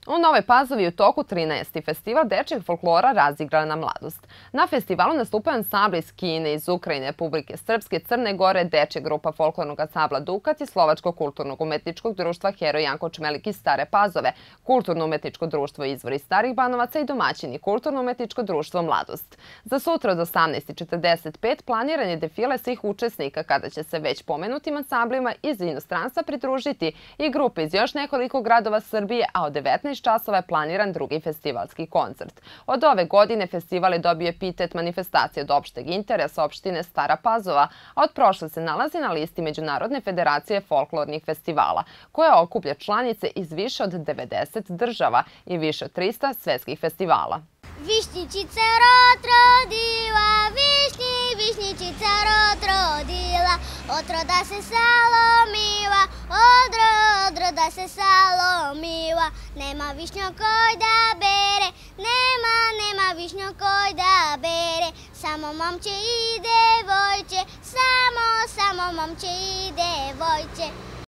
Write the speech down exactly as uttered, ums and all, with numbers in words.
U Novoj Pazovi je u toku trinaesti festival dečijeg folklora Razigrana mladost. Na festivalu nastupaju ansambli iz Kine, iz Ukrajine, Republike Srpske, Crne Gore, dečja grupa folklornog ansambla Dukat i Slovačkog kulturno-umetničkog društva Heroj Janko Čmelik iz Stare Pazove, Kulturno-umetničko društvo Izvor iz Starih Banovaca i domaćini Kulturno-umetničko društvo Mladost. Za sutra od osamnaest četrdeset pet planiran je defile svih učesnika kada će se već pomenutim ansamblima iz inostranstva pridružiti i grupe iz još nekoliko gradova Srbije, a od devetnaest časova je planiran drugi festivalski koncert. Od ove godine festival je dobio epitet manifestacije od opšteg interesa opštine Stara Pazova, a od prošle se nalazi na listi Međunarodne federacije folklornih festivala, koja okuplja članice iz više od devedeset država i više od trista svetskih festivala. Višnjičica rod rodila, višnji, višnjičica rod rodila, od roda se salomila, od roda se salomila. Nema višnjo koj da bere, nema, nema višnjo koj da bere, samo momče i devojče, samo, samo momče i devojče.